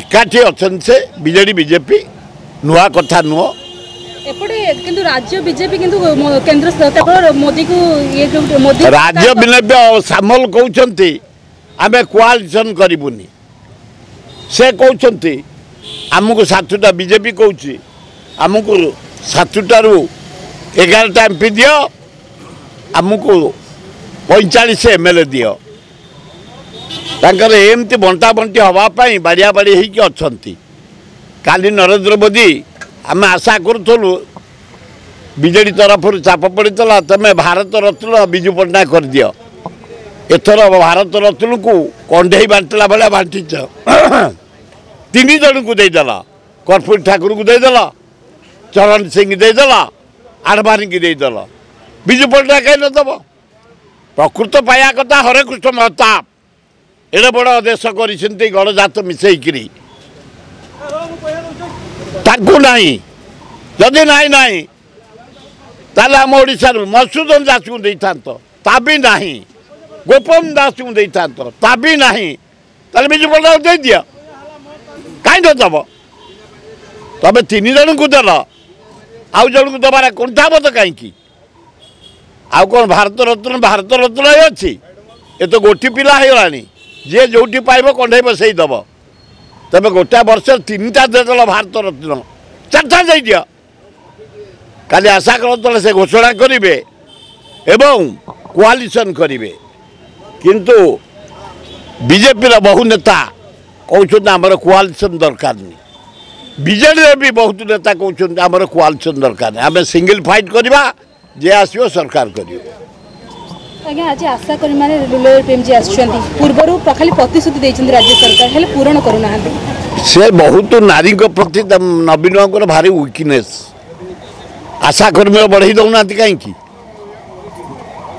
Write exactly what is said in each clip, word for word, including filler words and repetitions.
ଏକାଠି ଅଛନ୍ତି ସେ ବିଜେଡି ବିଜେପି, ନୂଆ କଥା ନୁହଁ। ଏପଟେ କିନ୍ତୁ ରାଜ୍ୟ ବିଜେପି କିନ୍ତୁ କେନ୍ଦ୍ର କେବଳ ମୋଦିକୁ ଇଏ, ମୋଦି ରାଜ୍ୟ ବିଜେପି ସାମଲ କହୁଛନ୍ତି ଆମେ କୋଆଲିସନ୍ କରିବୁନି। ସେ କହୁଛନ୍ତି ଆମକୁ ସାତଟା, ବିଜେପି କହୁଛି ଆମକୁ ସାତଟାରୁ ଏଗାରଟା ଏମ୍ ପି ଦିଅ, ଆମକୁ ପଇଁଚାଳିଶ ଏମ୍ ଏଲ୍ ଏ ଦିଅ। ତାଙ୍କର ଏମିତି ବଣ୍ଟା ବଣ୍ଟି ହେବା ପାଇଁ ବାଡ଼ିଆ ବାଡ଼ି ହେଇକି ଅଛନ୍ତି। କାଲି ନରେନ୍ଦ୍ର ମୋଦି, ଆମେ ଆଶା କରୁଥିଲୁ, ବିଜେଡ଼ି ତରଫରୁ ଚାପ ପଡ଼ିଥିଲା, ତୁମେ ଭାରତ ରତ୍ନ ବିଜୁ ପଟ୍ଟନାୟକ କରିଦିଅ। ଏଥର ଭାରତ ରତ୍ନକୁ କଣ୍ଢେଇ ବାଣ୍ଟିଲା ଭଳିଆ ବାଣ୍ଟିଛ, ତିନି ଜଣଙ୍କୁ ଦେଇଦେଲ। କର୍ପୂରୀ ଠାକୁରଙ୍କୁ ଦେଇଦେଲ, ଚରଣ ସିଂ ଦେଇଦେଲ, ଆଡ଼ଭାନୀକି ଦେଇଦେଲ, ବିଜୁ ପଟ୍ଟନାୟକ କାହିଁ ନଦେବ? ପ୍ରକୃତ ପାଇବା କଥା ହରେକୃଷ୍ଣ ମହତାବ, ଏଡ଼େ ବଡ଼ ଦେଶ କରିଛନ୍ତି ଗଡ଼ଜାତ ମିଶେଇକିରି, ତାଙ୍କୁ ନାହିଁ। ଯଦି ନାହିଁ ନାହିଁ, ତାହେଲେ ଆମ ଓଡ଼ିଶାରୁ ମଧୁସୂଦନ ଦାସଙ୍କୁ ଦେଇଥାନ୍ତ, ତା ବି ନାହିଁ। ଗୋପବନ୍ଧୁ ଦାସଙ୍କୁ ଦେଇଥାନ୍ତ, ତା ବି ନାହିଁ। ତାହେଲେ ବିଜୁ ପଟ୍ଟନାୟକ ଦେଇଦିଅ, କାହିଁ ନ ଦେବ? ତମେ ତିନି ଜଣଙ୍କୁ ଦେଲ, ଆଉ ଜଣଙ୍କୁ ଦେବାର କୁଣ୍ଠାବୋଧ କାହିଁକି? ଆଉ କ'ଣ ଭାରତ ରତ୍ନ ଭାରତ ରତ୍ନ ଅଛି? ଏ ତ ଗୋଟି ପିଲା ହେଇଗଲାଣି, ଯିଏ ଯେଉଁଠି ପାଇବ କଣ୍ଢେଇ ବସେଇ ଦେବ। ତେବେ ଗୋଟାଏ ବର୍ଷରେ ତିନିଟା ଦେଇଦେଲ ଭାରତ ରତ୍ନ, ଚାରିଟା ଦେଇଦିଅ। କାଲି ଆଶା କରୁଥିଲେ ସେ ଘୋଷଣା କରିବେ ଏବଂ କୋଆଲିସନ୍ କରିବେ, କିନ୍ତୁ ବିଜେପିର ବହୁ ନେତା କହୁଛନ୍ତି ଆମର କୋଆଲିସନ୍ ଦରକାର ନାହିଁ। ବିଜେଡ଼ିରେ ବି ବହୁତ ନେତା କହୁଛନ୍ତି ଆମର କୋଆଲିସନ୍ ଦରକାର ନାହିଁ, ଆମେ ସିଙ୍ଗଲ ଫାଇଟ୍ କରିବା, ଯିଏ ଆସିବ ସରକାର କରିବ। ଆଜ୍ଞା, ଆଜି ଆଶା କର୍ମୀମାନେ ଲୋୟର ପିଏମ୍ଜି ଆସିଛନ୍ତି। ପୂର୍ବରୁ ଖାଲି ପ୍ରତିଶ୍ରୁତି ଦେଇଛନ୍ତି ରାଜ୍ୟ ସରକାର, ହେଲେ ପୂରଣ କରୁନାହାନ୍ତି। ସେ ବହୁତ ନାରୀଙ୍କ ପ୍ରତି ନବୀନ ବାବୁଙ୍କର ଭାରି ୱିକନେସ୍। ଆଶା କର୍ମୀ ବଢ଼େଇ ଦେଉନାହାନ୍ତି କାହିଁକି?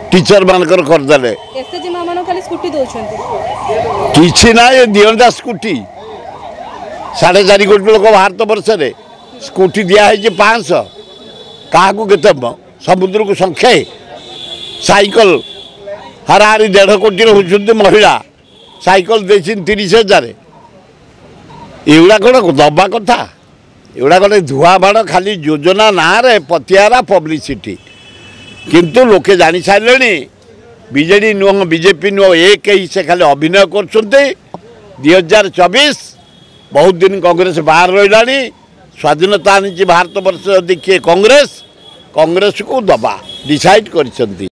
ଟିଚର ମାନଙ୍କର କରିଦେଲେ, ଏସ୍ଏଚଜି ମା ମାନଙ୍କୁ ଖାଲି ସ୍କୁଟି ଦେଉଛନ୍ତି। କିଛି ନାହିଁ, ଦିଅନ୍ତା ସ୍କୁଟି। ସାଢ଼େ ଚାରି କୋଟି ଲୋକ ଭାରତ ବର୍ଷରେ, ସ୍କୁଟି ଦିଆହେଇଛି ପାଞ୍ଚଶହ, କାହାକୁ କେତେ? ସମୁଦ୍ରକୁ ସଂଖ୍ୟାଏ। ସାଇକେଲ ହାରାହାରି ଦେଢ଼ କୋଟି ରହୁଛନ୍ତି ମହିଳା, ସାଇକେଲ ଦେଇଛନ୍ତି ତିରିଶ ହଜାର। ଏଗୁଡ଼ା କ'ଣ ଦେବା କଥା? ଏଗୁଡ଼ା ଗୋଟେ ଧୁଆ ବାଡ଼, ଖାଲି ଯୋଜନା ନାଁରେ ପତିଆରା ପବ୍ଲିସିଟି। କିନ୍ତୁ ଲୋକେ ଜାଣି ସାରିଲେଣି, ବିଜେଡ଼ି ନୁହଁ ବିଜେପି ନୁହଁ, ଏକ ହେଇ ସେ ଖାଲି ଅଭିନୟ କରୁଛନ୍ତି। ଦୁଇ ହଜାର ଚବିଶ ବହୁତ ଦିନ କଂଗ୍ରେସ ବାହାର ରହିଲାଣି। ସ୍ୱାଧୀନତା ଆଣିଛି ଭାରତ ବର୍ଷ ଯଦି କିଏ, କଂଗ୍ରେସ। କଂଗ୍ରେସକୁ ଦେବା ଡିସାଇଡ଼ କରିଛନ୍ତି।